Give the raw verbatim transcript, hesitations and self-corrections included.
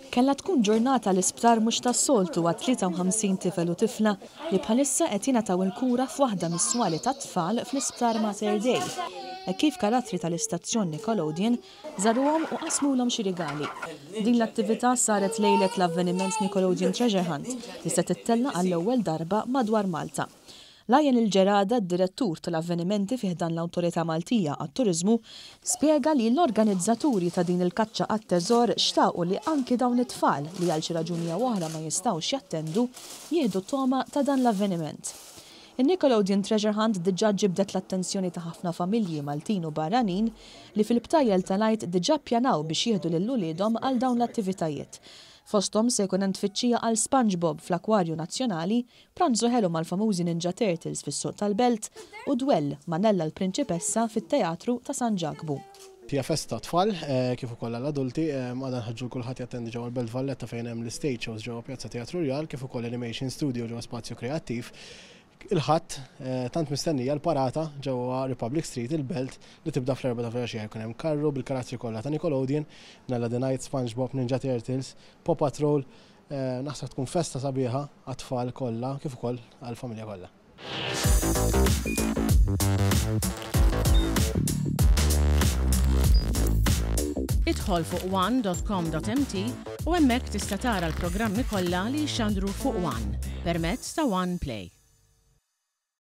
Kellha tkun ġurnata l-isptar mhux tas-soltu għat tlieta u ħamsin tifel u tifla li bħalissa qed jingħataw il-kura f'waħda mis-swali tat-tfal fl-isptar Mater Dei. Hekk kif karattri tal-istazzjon Nickelodeon żaruhom u qasmulhom xi rigali. Din l-attività saret lejlet l-avveniment Nickelodeon Treasure Hunt li se tittella' għall-ewwel darba madwar Malta. Lionel Gerada, direttur tal-avvenimenti fi ħdan l-Awtorità Maltija għat-Turiżmu, spjega li l-organizzaturi ta' din il-kaċċa għat-teżor xtaqu li anki dawn it-tfal li għal xi raġuni jew oħra ma jistgħux jattendu jieħdu toma ta' dan l-avveniment. Il-Nickelodeon Treasure Hunt diġà ġibdet l-attenzjoni ta' ħafna familji Maltin u barranin li fil-btajjel tal-Għid diġà ppjanaw biex jieħdu lil uliedhom għal dawn l-attivitajiet. Fosthom se jkun hemm tfittxija għal SpongeBob fl-Akwarju Nazzjonali, pranzu ħelu mal-famużi Ninja Turtles fis-suq tal-Belt u dwell ma' Nella l-Prinċipessa fit-Teatru ta' San Ġakbu. Hija festa tfal, eh, kif ukoll għall-adulti, eh, għadha nħeġġu kulħadd jattendi ġewwa l-Belt Valletta fejn hemm l-stage shows ġewwa Pjazza Teatru Rjal, kif ukoll Animation Studio ġewwa Spazju Kreattiv. Il-Ħadd eh, tant mistennija l-parata ġewwa Republic Street, il-Belt, li tibda fl-erbgħa ta' filgħaxija. Jkun hemm karru bil-karattri kollha ta' Nickelodeon, Nella the Knight, SpongeBob, Ninja Turtles, Paw Patrol. eh, Naħseb tkun festa sabiħa għat-tfal kollha kif ukoll għall-familja kollha. Idħol fuq one dot com dot M T u hemmhekk tista' tara l-programmi kollha li jxandru fuq One permezz ta' One Play.